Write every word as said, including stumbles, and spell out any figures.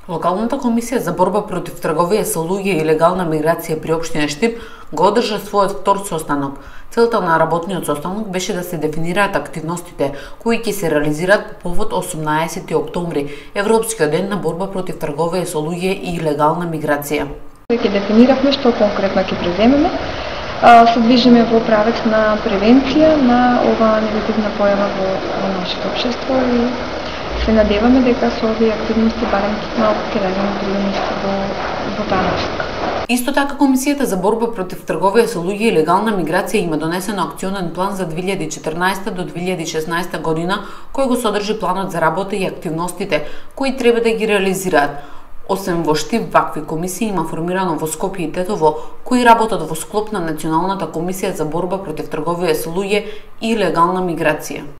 Локалната комисија за борба против трговија со луѓе и легална миграција при општина Штип го одржа својот втор состанок. Целта на работниот состанок беше да се дефинираат активностите кои ќе се реализираат по повод осумнаесети октомври, Европскиот ден на борба против трговија со луѓе и легална миграција. Ќе дефиниравме што конкретно ќе преземеме. Се движиме во правец на превенција на оваа негативна појава во, во нашето општество и се надеваме дека со овие активности барем малку ќе дадеме принос во, во таа насока. Исто така, Комисијата за борба против трговија со луѓе и легална миграција има донесено акционен план за две илјади и четрнаесета до две илјади и шеснаесета година, кој го содржи планот за работа и активностите кои треба да ги реализираат. Освен во Штип, вакви комисии има формирано во Скопје и Тетово, кои работат во склоп на Националната комисија за борба против трговија со луѓе и легална миграција.